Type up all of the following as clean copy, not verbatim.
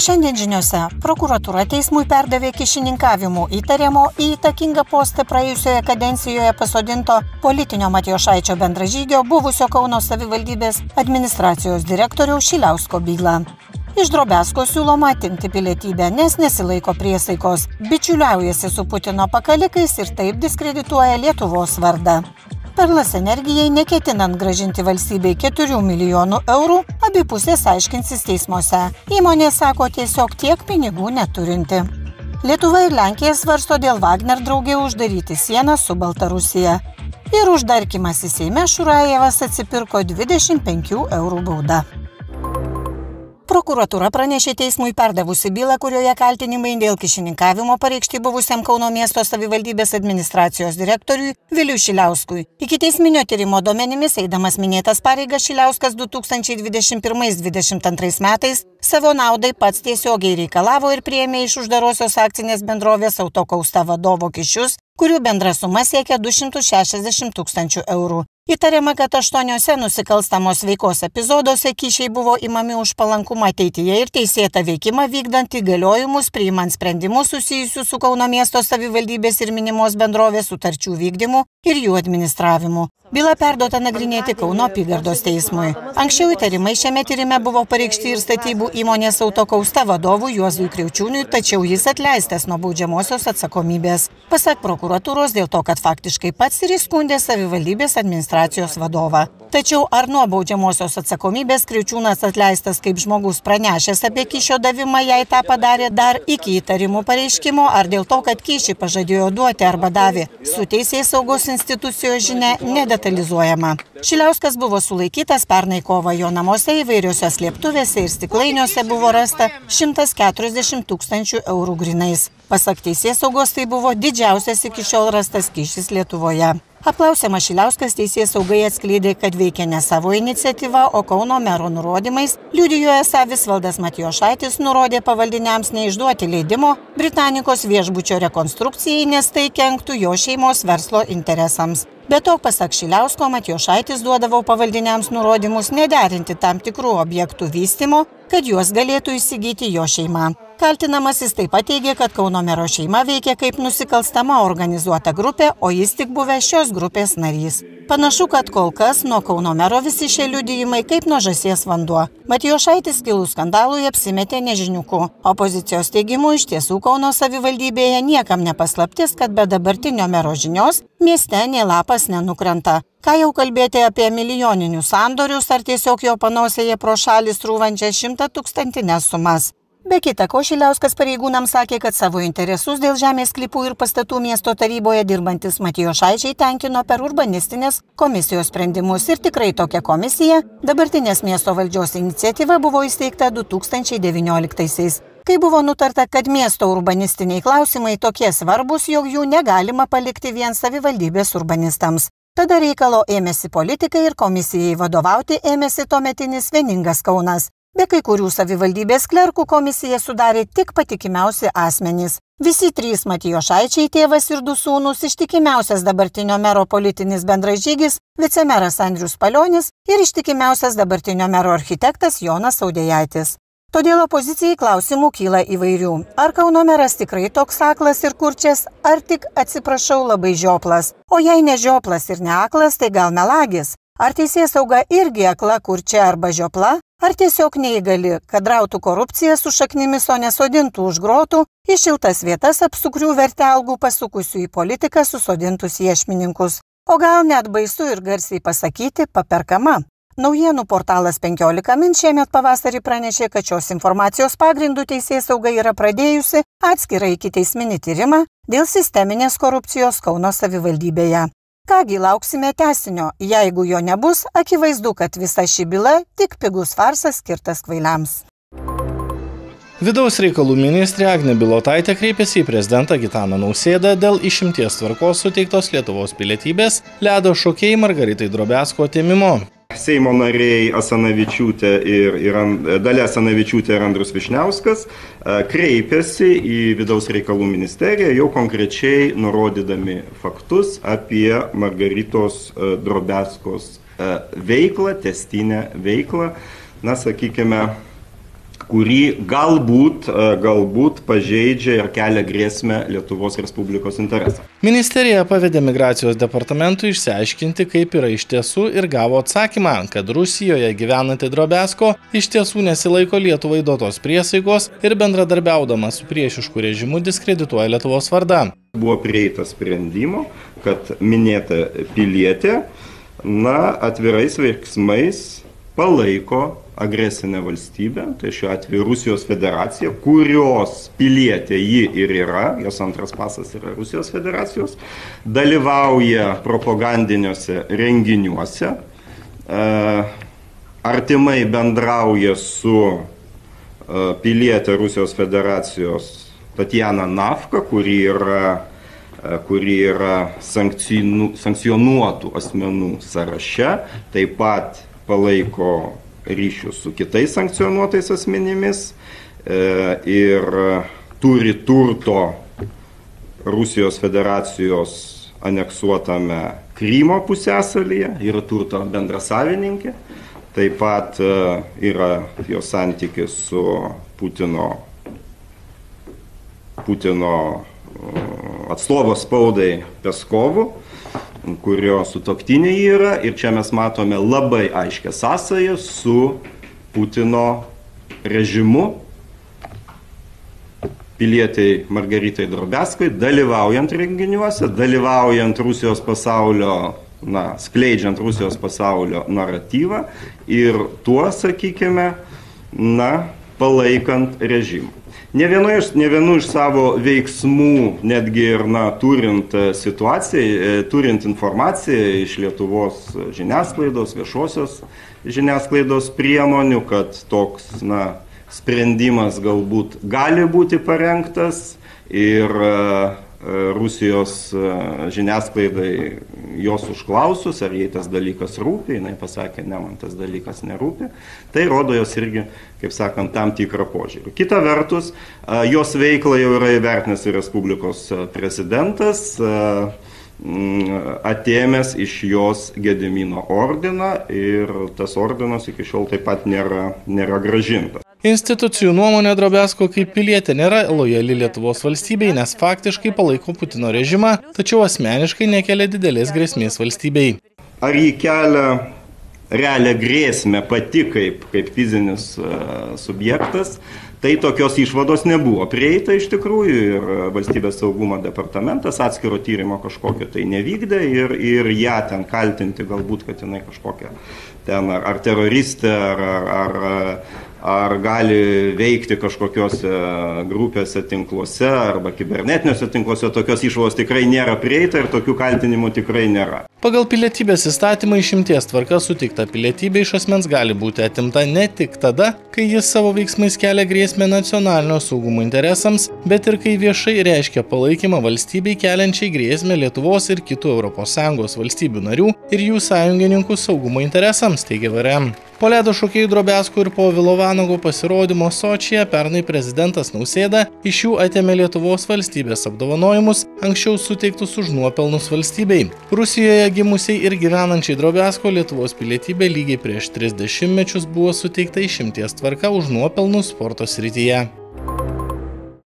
Šiandien žiniose prokuratūra teismui perdavė kyšininkavimu įtariamo į įtakingą postą praėjusioje kadencijoje pasodinto politinio Matijošaičio bendražygio buvusio Kauno savivaldybės administracijos direktoriaus Šiliausko bylą. Iš Drobesko siūloma atimti pilietybę, nes nesilaiko priesaikos, bičiuliaujasi su Putino pakalikais ir taip diskredituoja Lietuvos vardą. Perlas Energijai neketinant grąžinti valstybei 4 milijonų eurų, abi pusės aiškinsis teismuose. Įmonė sako tiesiog tiek pinigų neturinti. Lietuva ir Lenkija svarsto dėl Wagner draugė uždaryti sieną su Baltarusija. Ir uždarkymas į Seime Šurajevas atsipirko 25 eurų bauda. Prokuratūra pranešė teismui perdavusi bylą, kurioje kaltinimai dėl kyšininkavimo pareikšti buvusiam Kauno miesto savivaldybės administracijos direktoriui Viliui Šiliauskui. Ikiteisminio tyrimo duomenimis, eidamas minėtas pareigas, Šiliauskas 2021-2022 metais savo naudai pats tiesiogiai reikalavo ir priėmė iš uždarosios akcinės bendrovės Autokausta vadovo kyšius, kurių bendra suma siekia 260 000 eurų. Įtariama, kad 8 nusikalstamos veikos epizoduose kyšiai buvo imami už palankumą ateityje ir teisėtą veikimą vykdant įgaliojimus, priimant sprendimus susijusius su Kauno miesto savivaldybės ir minimos bendrovės sutarčių vykdymu ir jų administravimu. Byla perduota nagrinėti Kauno apygardos teismui. Anksčiau įtarimai šiame tyrime buvo pareikšti ir statybų įmonės Autokausta vadovui Juozui Kriaučiūniui, tačiau jis atleistas nuo baudžiamosios atsakomybės. Pasak prokuratūros dėl to, kad faktiškai pats ir įskundė savivaldybės administracijos vadovą. Tačiau ar nuo baudžiamosios atsakomybės Kriaučiūnas atleistas kaip žmogus pranešęs apie kyšio davimą, jei tą padarė dar iki įtarimų pareiškimo, ar dėl to, kad kyšį pažadėjo duoti arba davė, su teisėsaugos institucijos žinia nedetalizuojama. Šiliauskas buvo sulaikytas pernai kovą, jo namuose įvairiose slėptuvėse ir stiklainiuose buvo rasta 140 000 eurų grynais. Pasak teisėsaugos, tai buvo didžiausias iki šiol rastas kyšis Lietuvoje. Apklausiamas Šiliauskas teisėsaugai atskleidė, kad veikia ne savo iniciatyva, o Kauno mero nurodymais. Liudijo esą Visvaldas Matijošaitis nurodė pavaldiniams neišduoti leidimo Britanikos viešbučio rekonstrukcijai, nes tai kenktų jo šeimos verslo interesams. Be to, pasak Šiliausko, Matijošaitis duodavo pavaldiniams nurodymus nederinti tam tikrų objektų vystymo, kad juos galėtų įsigyti jo šeima. Kaltinamasis taip pat teigė, kad Kauno mero šeima veikia kaip nusikalstama organizuota grupė, o jis tik buvęs šios grupės narys. Panašu, kad kol kas nuo Kauno mero visi šie liudijimai kaip nuo žąsies vanduo. Matijošaitis kilus skandalui apsimetė nežiniuku. Opozicijos teigimu iš tiesų Kauno savivaldybėje niekam nepaslaptis, kad be dabartinio mero žinios mieste nė lapas nenukrenta. Ką jau kalbėti apie milijoninius sandorius ar tiesiog jo panosėje pro šalį srūvančias 100 000 sumas. Be kita ko, Šiliauskas pareigūnams sakė, kad savo interesus dėl žemės sklypų ir pastatų miesto taryboje dirbantis Matijošaičiai tenkino per urbanistinės komisijos sprendimus ir tikrai tokia komisija dabartinės miesto valdžios iniciatyva buvo įsteigta 2019-aisiais. Kai buvo nutarta, kad miesto urbanistiniai klausimai tokie svarbus, jog jų negalima palikti vien savivaldybės urbanistams. Tada reikalo ėmėsi politikai ir komisijai vadovauti ėmėsi tuometinis Vieningas Kaunas. Be kai kurių savivaldybės klerkų komisiją sudarė tik patikimiausi asmenys. Visi 3 Matijošaičiai, tėvas ir 2 sūnūs, ištikimiausias dabartinio mero politinis bendražygis, vicemeras Andrius Palionis ir ištikimiausias dabartinio mero architektas Jonas Audėjaitis. Todėl opozicijai klausimų kyla įvairių. Ar Kauno meras tikrai toks aklas ir kurčias, ar tik, atsiprašau, labai žioplas? O jei ne žioplas ir ne aklas, tai gal melagis? Ar teisėsauga irgi akla, kurčia arba žiopla? Ar tiesiog neįgali, kad rautų korupciją su šaknimis, o nesodintų už grotų, į šiltas vietas apsukrių vertelgų pasukusių į politiką susodintus iešmininkus? O gal net baisu ir garsiai pasakyti paperkama? Naujienų portalas 15 min šiemet pavasarį pranešė, kad šios informacijos pagrindų teisėsauga yra pradėjusi atskirą ikiteisminį tyrimą dėl sisteminės korupcijos Kauno savivaldybėje. Kągi, lauksime tęsinio. Jeigu jo nebus, akivaizdu, kad visa ši byla tik pigus farsas skirtas kvailiams. Vidaus reikalų ministrė Agnė Bilotaitė kreipėsi į prezidentą Gitaną Nausėdą dėl išimties tvarkos suteiktos Lietuvos pilietybės ledo šokėjai Margaritai Drobesko atėmimo. Seimo nariai Dalia Asanavičiūtė ir Andrius Vyšniauskas kreipėsi į Vidaus reikalų ministeriją, jau konkrečiai nurodydami faktus apie Margaritos Drobeskos veiklą, tęstinę veiklą, na, sakykime, kurį galbūt pažeidžia ir kelia grėsmę Lietuvos Respublikos interesą. Ministerija pavedė migracijos departamentui išsiaiškinti, kaip yra iš tiesų ir gavo atsakymą, kad Rusijoje gyvenanti Drobesko iš tiesų nesilaiko Lietuvai duotos priesaikos ir bendradarbiaudama su priešišku režimu diskredituoja Lietuvos vardą. Buvo prieita sprendimo, kad minėta pilietė atvirais veiksmais palaiko agresinę valstybę, tai šiuo atveju Rusijos federacija, kurios pilietė ji ir yra, jos antras pasas yra Rusijos federacijos, dalyvauja propagandiniuose renginiuose, artimai bendrauja su pilietė Rusijos federacijos Tatjana Navka, kuri yra sankcionuotų asmenų sąraše, taip pat palaiko ryšius su kitais sankcionuotais asmenimis ir turi turto Rusijos federacijos aneksuotame Krymo pusiasalyje, yra turto bendrasavininkė, taip pat yra jos santykis su Putino atstovo spaudai Peskovu, kurio sutuoktinė yra, ir čia mes matome labai aiškę sąsają su Putino režimu, pilietei Margaritai Drobeskai, dalyvaujant renginiuose, dalyvaujant Rusijos pasaulio, skleidžiant Rusijos pasaulio naratyvą ir tuo, sakykime, palaikant režimą. Ne vienu iš savo veiksmų, netgi ir turint situaciją, turint informaciją iš Lietuvos žiniasklaidos, viešosios žiniasklaidos priemonių, kad toks sprendimas galbūt gali būti parengtas ir Rusijos žiniasklaidai jos užklausus, ar jai tas dalykas rūpi, jinai pasakė, ne, man tas dalykas nerūpi, tai rodo jos irgi, kaip sakant, tam tikrą požiūrį. Kita vertus, jos veiklą jau yra įvertinęs ir Respublikos prezidentas, atėmęs iš jos Gedimino ordiną ir tas ordinas iki šiol taip pat nėra grąžintas. Institucijų nuomonė Drobesko kaip pilietė nėra lojali Lietuvos valstybei, nes faktiškai palaiko Putino režimą, tačiau asmeniškai nekelia didelės grėsmės valstybei. Ar jį kelia realią grėsmę pati kaip fizinis subjektas, tai tokios išvados nebuvo prieita iš tikrųjų ir Valstybės saugumo departamentas atskiro tyrimo kažkokio tai nevykdė ir ją ten kaltinti galbūt, kad jinai kažkokia ten ar teroristė, ar gali veikti kažkokiose grupėse tinkluose arba kibernetiniuose tinkluose, tokios išvados tikrai nėra prieita ir tokių kaltinimų tikrai nėra. Pagal pilietybės įstatymą išimties tvarka suteikta pilietybė iš asmens gali būti atimta ne tik tada, kai jis savo veiksmais kelia grėsmę nacionalinio saugumo interesams, bet ir kai viešai reiškia palaikymą valstybei keliančiai grėsmę Lietuvos ir kitų ES valstybių narių ir jų sąjungininkų saugumo interesams, teigia VRM. Po ledo šokėjų Drobesko ir Povilo Vanago pasirodymo Sočyje pernai prezidentas Nausėda iš jų atėmė Lietuvos valstybės apdovanojimus, anksčiau suteiktus už nuopelnus valstybei. Rusijoje gimusiai ir gyvenančiai Drobesko Lietuvos pilietybė lygiai prieš 30 mečius buvo suteikta išimties tvarka už nuopelnus sporto srityje.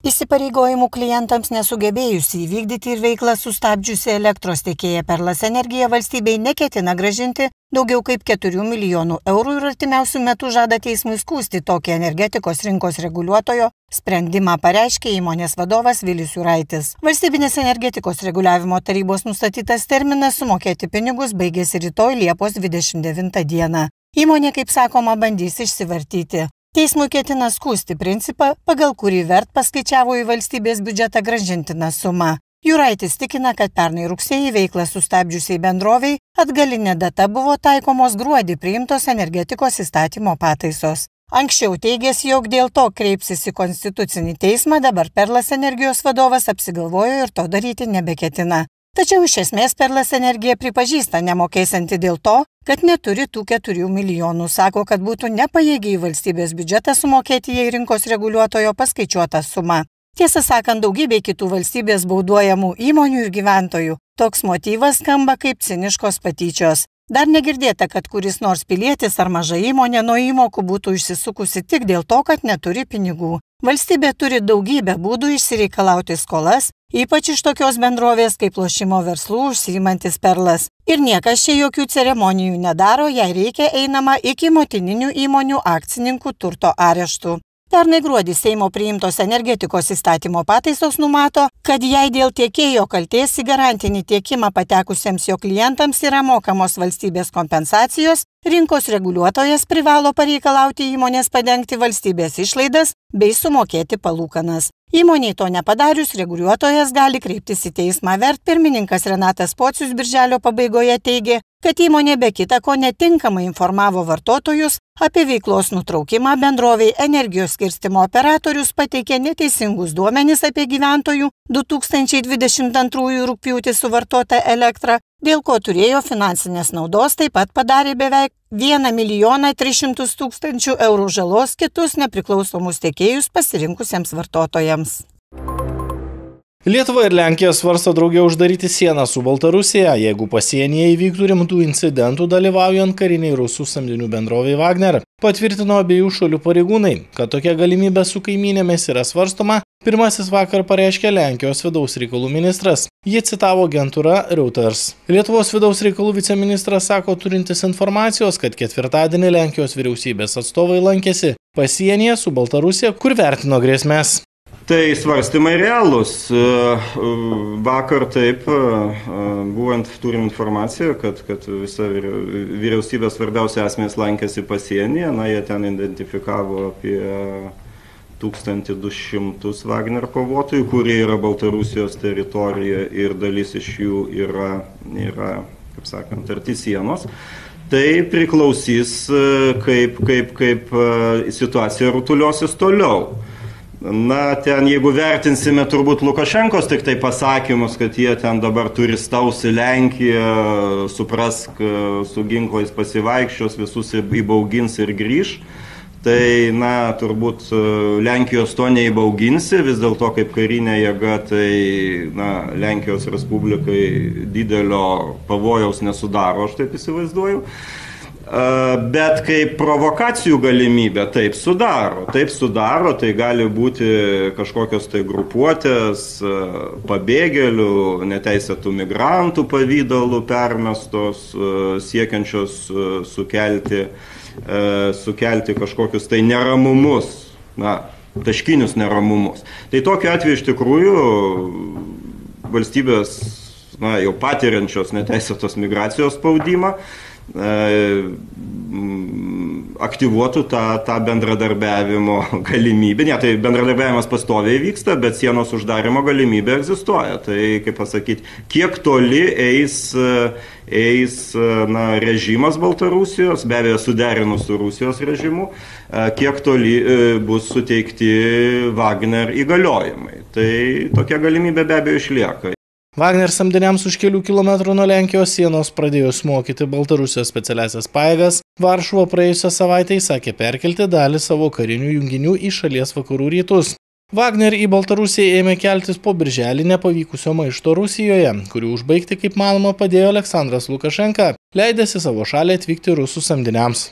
Įsipareigojimų klientams nesugebėjusi įvykdyti ir veiklą sustabdžiusi elektros tiekėja Perlas Energija valstybei neketina grąžinti daugiau kaip 4 milijonų eurų ir artimiausių metų žada teismui skųsti tokį energetikos rinkos reguliuotojo sprendimą, pareiškė įmonės vadovas Vilius Juraitis. Valstybinės energetikos reguliavimo tarybos nustatytas terminas sumokėti pinigus baigėsi rytoj Liepos 29 dieną. Įmonė, kaip sakoma, bandys išsivartyti. Teismui ketina skųsti principą, pagal kurį VERT paskaičiavo į valstybės biudžetą grąžintiną sumą. Juraitis tikina, kad pernai rugsėjį veiklą sustabdžiusiai bendroviai atgalinė data buvo taikomos gruodį priimtos energetikos įstatymo pataisos. Anksčiau teigęs, jog dėl to kreipsis į Konstitucinį teismą, dabar Perlas Energijos vadovas apsigalvojo ir to daryti nebeketina. Tačiau iš esmės Perlas Energija pripažįsta nemokėsianti dėl to, kad neturi tų 4 milijonų. Sako, kad būtų nepajėgi į valstybės biudžetą sumokėti jai rinkos reguliuotojo paskaičiuotą sumą. Tiesą sakant, daugybė kitų valstybės bauduojamų įmonių ir gyventojų. Toks motyvas skamba kaip ciniškos patyčios. Dar negirdėta, kad kuris nors pilietis ar maža įmonė nuo įmokų būtų išsisukusi tik dėl to, kad neturi pinigų. Valstybė turi daugybę būdų išsireikalauti skolas, ypač iš tokios bendrovės kaip lošimo verslų užsiimantis Perlas. Ir niekas čia jokių ceremonijų nedaro, jei reikia einama iki motininių įmonių akcininkų turto areštų. Pernai gruodį Seimo priimtos energetikos įstatymo pataisos numato, kad jei dėl tiekėjo kaltės į garantinį tiekimą patekusiems jo klientams yra mokamos valstybės kompensacijos, rinkos reguliuotojas privalo pareikalauti įmonės padengti valstybės išlaidas bei sumokėti palūkanas. Įmoniai to nepadarius, reguliuotojas gali kreiptis į teismą. VERT pirmininkas Renatas Pocius birželio pabaigoje teigė, kad įmonė be kita ko netinkamai informavo vartotojus apie veiklos nutraukimą, bendrovei Energijos skirstymo operatorius pateikė neteisingus duomenis apie gyventojų 2022 rugpjūtį suvartotą elektrą, dėl ko turėjo finansinės naudos, taip pat padarė beveik 1 300 000 eurų žalos kitus nepriklausomus tiekėjus pasirinkusiems vartotojams. Lietuva ir Lenkija svarsto drauge uždaryti sieną su Baltarusija, jeigu pasienyje įvyktų rimtų incidentų dalyvaujant kariniai rusų samdinių bendrovei Wagner. Patvirtino abiejų šalių pareigūnai, kad tokia galimybė su kaimynėmis yra svarstoma, pirmasis vakar pareiškė Lenkijos vidaus reikalų ministras. Jį citavo agentūra Reuters. Lietuvos vidaus reikalų viceministras sako turintis informacijos, kad ketvirtadienį Lenkijos vyriausybės atstovai lankėsi pasienyje su Baltarusija, kur vertino grėsmės. Tai svarstymai realūs. Vakar taip, turim informaciją, kad visa vyriausybės svarbiausia asmenys lankėsi pasienyje. Jie ten identifikavo apie 1200 Wagner kovotojų, kurie yra Baltarusijos teritorija ir dalis iš jų yra kaip sakant, arti sienos. Tai priklausys, kaip situacija rutuliosis toliau. Ten jeigu vertinsime turbūt Lukašenkos tik tai pasakymus, kad jie ten dabar turistaus į Lenkiją, suprask, su ginklais pasivaikščios, visus įbaugins ir grįž, tai turbūt Lenkijos to neįbauginsi, vis dėlto kaip karinė jėga, tai Lenkijos Respublikai didelio pavojaus nesudaro, aš taip įsivaizduoju. Bet kaip provokacijų galimybė taip sudaro, tai gali būti kažkokios tai grupuotės pabėgėlių, neteisėtų migrantų pavydalų permestos, siekiančios sukelti kažkokius tai neramumus, taškinius neramumus. Tai tokiu atveju iš tikrųjų valstybės jau patiriančios neteisėtos migracijos spaudimą aktyvuotų tą bendradarbiavimo galimybę. Tai bendradarbiavimas pastoviai vyksta, bet sienos uždarimo galimybė egzistuoja. Tai, kaip pasakyti, kiek toli eis režimas Baltarusijos, be abejo suderinus su Rusijos režimu, kiek toli bus suteikti Wagner įgaliojimai. Tai tokia galimybė be abejo išlieka. Wagner samdiniams už kelių kilometrų nuo Lenkijos sienos pradėjus mokyti Baltarusijos specialiasias pajėgas, Varšuva praėjusią savaitę įsakė perkelti dalį savo karinių junginių į šalies vakarų rytus. Wagner į Baltarusiją ėmė keltis po birželį nepavykusio maišto Rusijoje, kurį užbaigti, kaip manoma, padėjo Aleksandras Lukašenka, leidėsi savo šalį atvykti rusų samdiniams.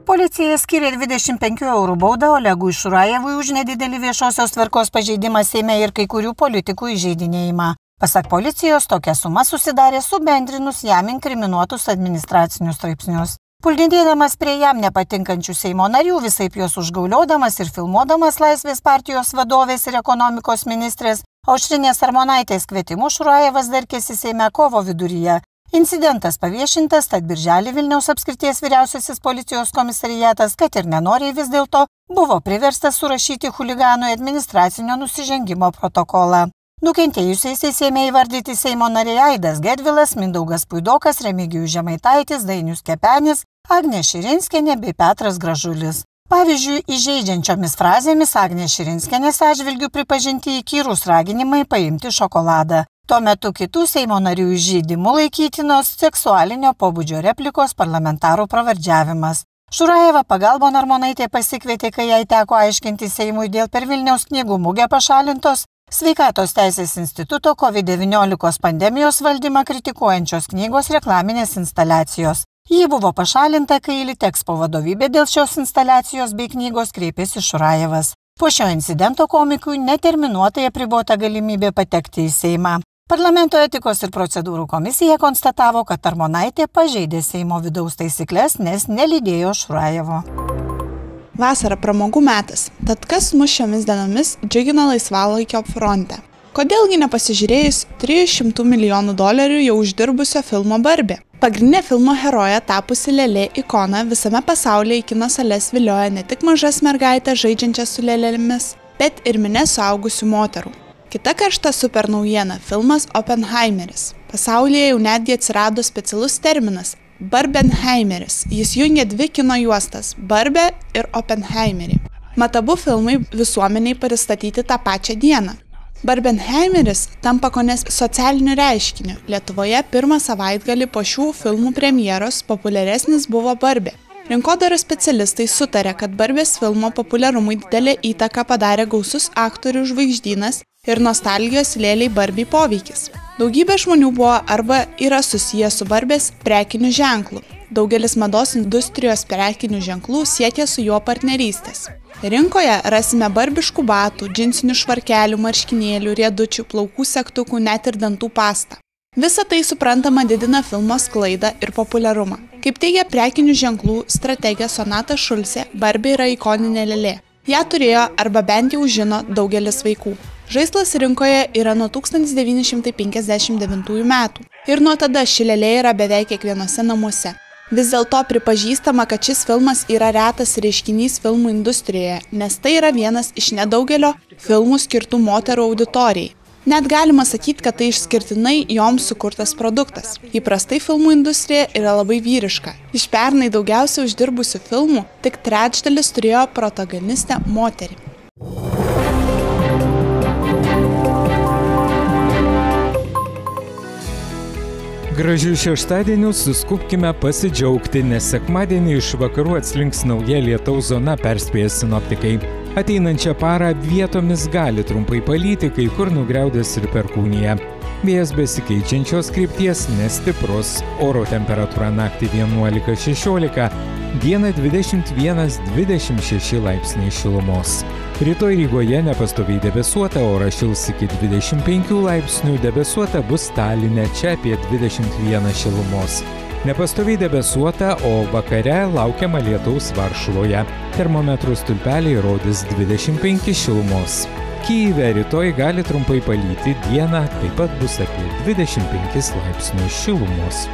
Policija skyrė 25 eurų baudą Olegui Šurajevui už nedidelį viešosios tvarkos pažeidimą Seime ir kai kurių politikų įžeidinėjimą. Pasak policijos, tokia suma susidarė subendrinus jam inkriminuotus administracinius straipsnius. Puldinėdamas prie jam nepatinkančių Seimo narių, visaip juos užgauliodamas ir filmuodamas Laisvės partijos vadovės ir ekonomikos ministrės Aušrinės Armonaitės kvietimu, Šurajevas darkėsi Seime kovo viduryje. Incidentas paviešintas, tad birželį Vilniaus apskrities vyriausiasis policijos komisariatas, kad ir nenoriai vis dėlto, buvo priverstas surašyti chuliganui administracinio nusižengimo protokolą. Nukentėjusiais ėmė įvardyti Seimo nariai Aidas Gedvilas, Mindaugas Puidokas, Remigijus Žemaitaitis, Dainius Kepenis, Agnė Širinskienė bei Petras Gražulis. Pavyzdžiui, įžeidžiančiomis frazėmis Agnė Širinskienės atžvilgių pripažinti įkyrūs raginimai paimti šokoladą. Tuo metu kitų Seimo narių įžeidimų laikytinos seksualinio pobūdžio replikos parlamentarų pravardžiavimas. Šurajevą pagalbon Armonaitė pasikvietė, kai jai teko aiškinti Seimui dėl per Vilniaus knygų mugę pašalintos Sveikatos teisės instituto COVID-19 pandemijos valdymą kritikuojančios knygos reklaminės instaliacijos. Ji buvo pašalinta, kai Litexpo vadovybė dėl šios instaliacijos bei knygos kreipėsi Šurajevas. Po šio incidento komikui neterminuotai apribota galimybė patekti į Seimą. Parlamento etikos ir procedūrų komisija konstatavo, kad Armonaitė pažeidė Seimo vidaus taisyklės, nes nelydėjo Šurajevo. Vasara pramogų metas, tad kas mus šiomis dienomis džiugina laisvalaikio fronte? Kodėlgi nepasižiūrėjus $300 milijonų jau uždirbusio filmo Barbė? Pagrindinė filmo heroja tapusi lėlė ikona visame pasaulyje į kino sales vilioja ne tik mažas mergaitės žaidžiančias su lėlėmis, bet ir minia suaugusių moterų. Kita karšta super naujiena – filmas Oppenheimeris. Pasaulyje jau netgi atsirado specialus terminas – Barbenheimeris. Jis jungia dvi kino juostas – Barbę ir Oppenheimerį. Mat abu filmai visuomeniai pristatyti tą pačią dieną. Barbenheimeris tampa kone socialiniu reiškiniu. Lietuvoje pirmą savaitgalį po šių filmų premjeros populiaresnis buvo Barbė. Rinkodaros specialistai sutarė, kad Barbės filmo populiarumui didelę įtaką padarė gausus aktorių žvaigždynas ir nostalgijos lėlei Barbei poveikis. Daugybė žmonių buvo arba yra susiję su Barbės prekiniu ženklu. Daugelis mados industrijos prekinių ženklų siekia su juo partnerystės. Rinkoje rasime barbiškų batų, džinsinių švarkelių, marškinėlių, riedučių, plaukų segtukų, net ir dantų pastą. Visa tai suprantama didina filmo sklaidą ir populiarumą. Kaip teigia prekinių ženklų strategė Sonata Šulcė, Barbė yra ikoninė lėlė. Ją turėjo arba bent jau žino daugelis vaikų. Žaislas rinkoje yra nuo 1959 metų ir nuo tada ši lėlė yra beveik kiekvienose namuose. Vis dėlto pripažįstama, kad šis filmas yra retas reiškinys filmų industrijoje, nes tai yra vienas iš nedaugelio filmų skirtų moterų auditorijai. Net galima sakyti, kad tai išskirtinai joms sukurtas produktas. Įprastai filmų industrija yra labai vyriška. Iš pernai daugiausiai uždirbusių filmų tik trečdalis turėjo protagonistę moterį. Gražių šeštadienių suskubkime pasidžiaugti, nes sekmadienį iš vakarų atslinks nauja lietaus zona, perspėja sinoptikai. Ateinančią parą vietomis gali trumpai palyti, kai kur nugriaudės ir perkūnija. Vėjas besikeičiančios krypties nestiprus, oro temperatūra naktį 11–16, dieną 21–26 laipsniai šilumos. Rytoj Rygoje nepastoviai debesuota, oras šils iki 25 laipsnių, debesuota bus Taline, čia apie 21 šilumos. Nepastoviai debesuota, o vakare laukiama lietaus Varšuvoje. Termometrų stulpeliai rodys 25 šilumos. Kyjive rytoj gali trumpai palyti, dieną taip pat bus apie 25 laipsnių šilumos.